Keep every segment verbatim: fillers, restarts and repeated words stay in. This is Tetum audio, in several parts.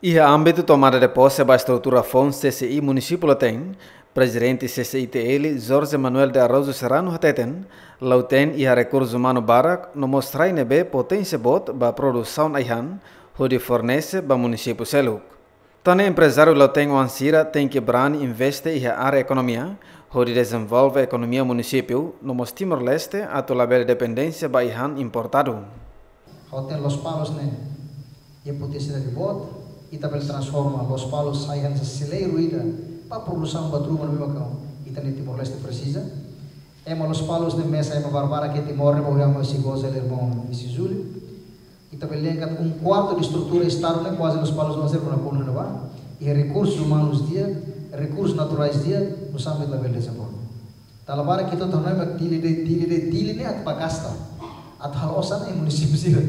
Iha ámbitu tomada de pose ba estrutura foun C C I Munisípiu Lautém, Prezidente C C I T L, Jorge Manuel de Araújo Serrano hateten, Lautém iha rekursu umanu barak no mós rai ne'ebé poténsia boot ba produsaun ai-han, hodi fornese ba munisípiu seluk. Tan ne'e emprezáriu Lautém oan sira tenke brani investe iha área ekonomia, hodi dezenvolve ekonomia munisípiu, no mós Timor-Leste atu labele dependénsia ba ai-han importadu. Ha'u hateten Lospalos ne'e iha potensiál boot, ita bele transforma Lospalos sai hanesan seleiru ida ba produsaun buat ruma ne'ebé mak ita-nia Timor-Leste presiza. Ema Lospalos ne'e mesak ema barbarak iha Timor ne'e, ba ema sei goza el irmaun Isidro Júlio. Ita bele dehan katak um quarto de estrutura Estadu ne'e kuaze Lospalos oan sira rona kona ne'ebá. Iha rekursus umanus di'ak, rekursus naturais di'ak, no sampai ita bele dezenvolve. Dala barak ita atu hanoin mak Dili de'it, Dili de'it, Dili ne'e atu bá gasta, atu halo osan iha munisípiu sira.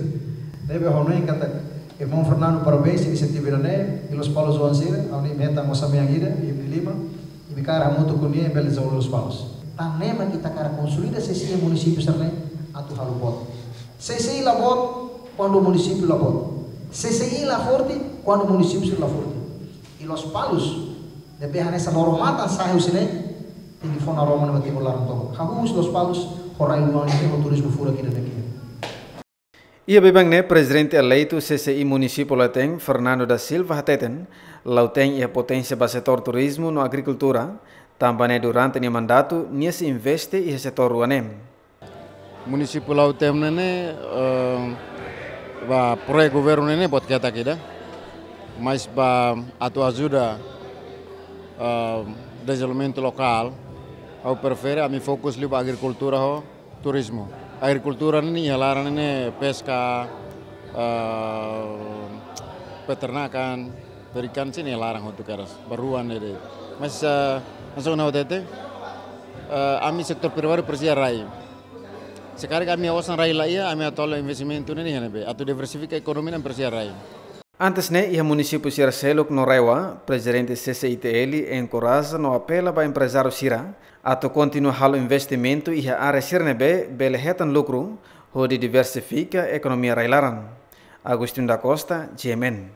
Ne'ebé ha'u hanoin katak irmaun Fernando, parabéns inisiativa ida-ne'e, i Lospalos oan sira, ha'u-nia metan osan mean ida, imi-nia liman, imi kaer hamutuk ho nia bele dezenvolve Lospalos. Tan ne'e mak ita hakarak konsolida C C I iha munisípiu sira-ne'e atu halo boot. C C I la boot kuandu munisípiu la boot. C C I la forte kuandu munisípiu sira la forte. I Lospalos ne'ebé hanesan loro-matan sa'e husi ne'e, tenke fó naroman ba Timor laran tomak. Hahú husi Lospalos ho rai-luan ida ho turizmu furak ida-ne'e. Iha biban ne'e Prezidente eleitu C C I Munisípiu Lautém, Fernando da Silva hateten, Lautém iha poténsia ba setór turizmu no agrikultura, tanba ne'e durante nia mandatu nia sei investe iha setór rua ne'e. Munisípiu Lautém ne'e, eh, ba projetu governu ne'e buat ketak ida. Mas ba atu ajuda, eh, dezenvolvimentu lokál, ha'u prefere ami fokus liu ba agrikultura ho turizmu. Agrikultura ne'e iha laran ne'e peska, eh, peternakan, perikan sira iha laran hotu kedas, ba rua ne'e de'it. Mas, eh, hanesan ohin ha'u hatete, eh, ami setór privadu presiza rai. Se karik ami osan rai la iha, ami atu halo investimentu ne'e iha ne'ebé? Atu diversifika ekonomia ne'e presiza rai. Antes ne'e, iha munisípiu sira seluk no RAEOA, Prezidente C C I T L enkoraja no apela ba emprezáriu sira atu kontinua halo investimentu iha área sira ne'ebé bele hetan lukru, hodi diversifika ekonomia rai-laran. Agostinho da Costa, G M N.